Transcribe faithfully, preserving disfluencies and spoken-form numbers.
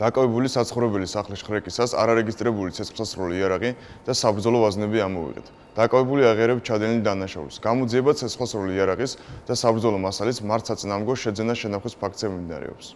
დაკავებული საცხოვრებელი სახლის შხრეკისას არარეგისტრირებული ცეცხლსასროლი იარაღი და საბრძოლო ვაზნები ამოვიღეთ. დაკავებული აღიარებს ჩადენილ დანაშაულს. გამოძიება ცეცხლსასროლი იარაღის და საბრძოლო მასალის მარცაც ნამგო შეძენა შენახვის ფაქტზე მიმდინარეობს.